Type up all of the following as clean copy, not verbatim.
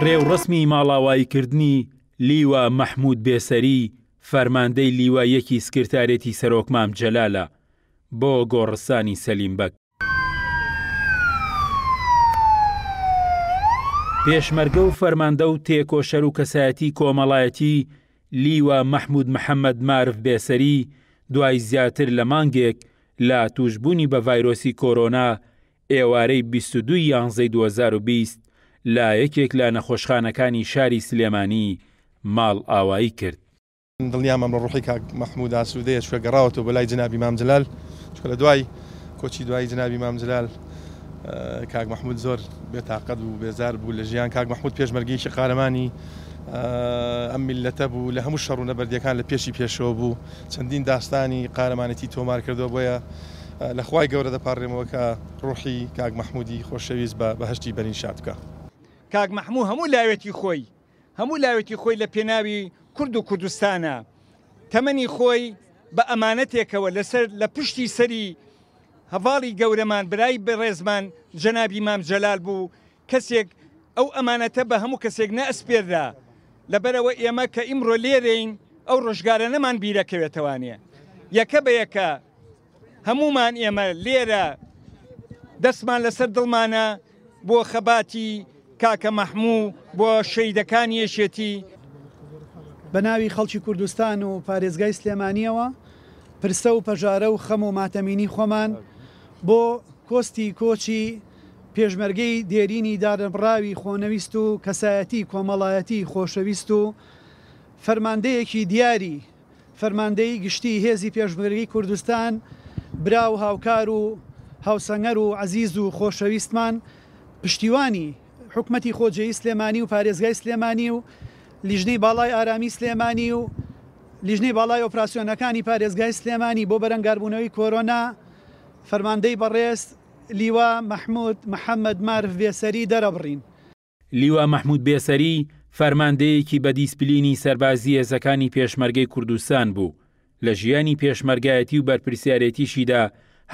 ڕێوڕەسمی ماڵاواییکردنی لیوا مەحموود بێسەری، فەرماندەی لیوای یەکی سکرتارێتی سەرۆک مام جەلالە بۆ گۆڕستانی سەلیم بەگ. پێشمەرگە و فەرماندە و تێکۆشەر و کەسایەتی کۆمەڵایەتی لیوا مەحموود محەمەد مارف بێسەری دوای زیاتر لە مانگێک لە تووشبوونی بە ڤایرۆسی کۆرۆنا ئێوارەی 22 یانزەی 2020 لە یەکێک لە نەخۆشخانەکانی شاری سلێمانی ماڵئاوایی کرد. دڵنیام ئەمڕۆ ڕوحی کاک مەحمود ئاسوودەیە چونکە گەڕاوەتەوە بۆ لای جەنابی مام جەلال، چونکە لە دوای کۆچی دوایی جەنابی مام جەلال کاک مەحمود زۆر بێتاقەت بوو، بێزار بوو لە ژیان. کاک مەحمود پێشمەرگەیەکی قارەمانی ئەم میللەتە بوو، لە هەموو شەڕ و نەبەردییەکان لە پێشی پێشەوە بوو، چەندین داستانی قارەمانێتی تۆمار کردووە، بۆیە لە خوای گەورە دەپاڕێمەوە کە ڕوحی کاک مەحمودی خۆشەویست بە بەهەشتی بەرین شاد بکا. کاک مەحموو هەموو لاوێتی خۆی هەموو لاوێتی خۆی لە پێناوی کورد و کوردستانا تەمەنی خۆی بە ئەمانەتێکەوە لەسەر لە پشتی سەری هەڤاڵی گەورەمان برای بەڕێزمان جەنابی مام جەلال بوو کەسێک ئەو ئەمانەتە بە هەموو کەسێک نەئەسپێررا لەبەرئەوە ئێمە کە ئیمڕۆ لێرەین ئەو ڕۆژگارەنەمان بیرەکەوێتەوانێ یەکە بە یەکە هەموومان ئێمە لێرە دەستمان لەسەر دڵمانە بۆ خەباتی کاکە مەحموو بۆ شەهیدەکانی یەکێتی. بە ناوی خەڵکی کوردستان و پارێزگای سلێمانییەوە پرسە و پەژارە و خەم و ماتەمینی خۆمان بۆ کۆستی کۆچی پێشمەرگەی دێرینی دانەبڕاوی خۆنەویست و کەسایەتی کۆمەڵایەتی خۆشەویست و فەرماندەیەکی دیاری فەرماندەیی گشتیی هێزی پێشمەرگەی کوردستان، برا و هاوکار و هاوسەنگەر و عەزیز و خۆشەویستمان، پشتیوانی حکومەتی خۆجێیی سلێمانی و پارێزگای سلێمانی و لیژنەی باڵای ئارامی سلێمانی و لیژنەی باڵای ئۆپراسیۆنەکانی پارێزگای سلێمانی بۆ بەرەنگاربوونەوەی کۆرۆنا، فەرماندەی بەڕێز لیوا مەحمود محەمەد مارف بێسەری دەرەبڕین. لیوا مەحمود بێسەری، فەرماندەیەکی بە دیسپلینی سەربازی هێزەکانی پێشمەرگەی کوردستان بوو، لە ژیانی پێشمەرگایەتی و بەرپرسیارێتیشیدا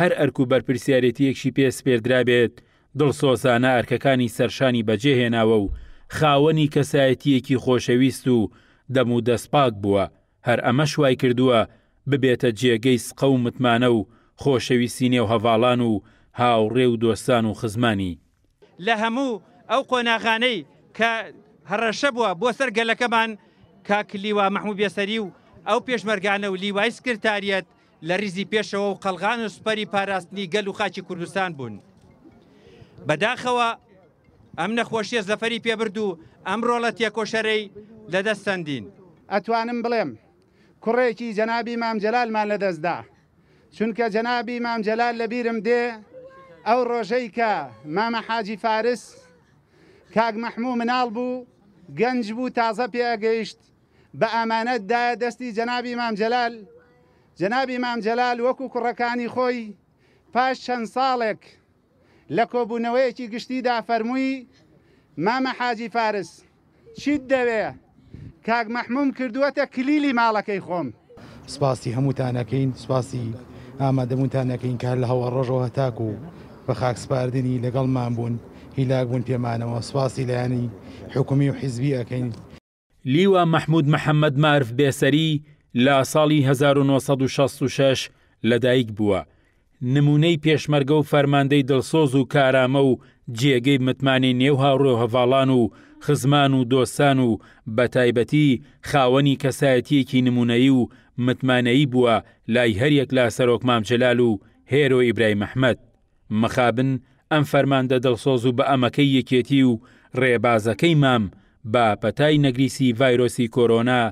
هەر ئەرک و بەرپرسیارێتییەکشی پێ سپێردرابێت دڵسۆزانە ئەرکەکانی سەرشانی بەجێ هێناوە و خاوەنی کەسایەتییەکی خۆشەویست و دەم و دەست پاک بووە، هەر ئەمەش وایکردووە ببێتە جێگەی سقە و متمانە و خۆشەویستی نێو هەڤاڵان و هاوڕێ و دۆستان و خزمانی. لە هەموو ئەو قۆناغانەی کە هەڕەشە بووە بۆ سەر گەلەکەمان، کاک لیوا مەحموو بێسەری و ئەو پێشمەرگانە و لیوای سکرتاریەت لە ریزی پێشەوە و قەڵغان و سوپەری پاراستنی گەل و خاکی کوردستان بوون. بەداخەوە ئەم نەخۆشیە زەفەری پێبرد و ئەم رۆڵە تێکۆشەرەی لەدەست سەندین. ئەتوانم بڵێم کوڕێکی جەنابی مام جەلالمان لەدەست دا، چونکە جەنابی مام جەلال لەبیرم دێ ئەو ڕۆژەی کە مامە حاجی فارس کاک مەحموو مناڵ بوو گەنج بوو تازە پێ ئەگەیشت بە ئامانەت دایە دەستی جەنابی مام جەلال جەنابی مام جەلال وەکو کوڕەکانی خۆی پاش چەند ساڵێک لە کۆبوونەوەیەکی گشتیدا فەرمووی، مامە حاجی فارس، چیت دەوێ؟ کاک مەحمووم کردووەتە کلیلی ماڵەکەی خۆم. سپاسی هەمووتان ئەکەین، سپاسی ئامادەبوونتان ئەکەین کە هەر لە هەواڵ ڕۆژەوە هەتاکوو بە خاک سپاردنی لەگەڵمان بوون، هیلاک بوون پێمانەوە، سپاسی لایەنی حکوومی و حیزبی ئەکەین. لیوا مەحمود محەمەد مارف بێسەری لە ساڵی 1966 لەدایک بووە، نموونەی پێشمەرگە و فەرماندەی دڵسۆز و کارامە و جێگەی متمانەی نێو هاوڕێ و هەڤاڵان و خزمان و دۆستان و بەتایبەتی خاوەنی کەسایەتییەکی نموونەیی و متمانەیی بووە لای هەریەک لە سەرۆک مام جەلال و هێرۆ ئیبراهیم ئەحمەد. مخابن ئەم فەرماندە دڵسۆز و بەئەمەکەی یەکێتی و ڕێبازەکەی مام بە پەتای نەگریسی ڤایرۆسی کۆرۆنا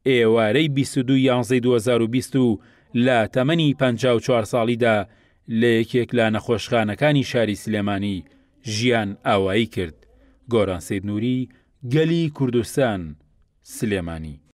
ئێوارەی 22 یانزەی 2020 و لە تەمەنی 54 ساڵیدا لە یەکێک لە نەخۆشخانەکانی شاری سلێمانی ژیان ئاوایی کرد. گۆران سەید نوری، گەلی کوردستان، سلێمانی.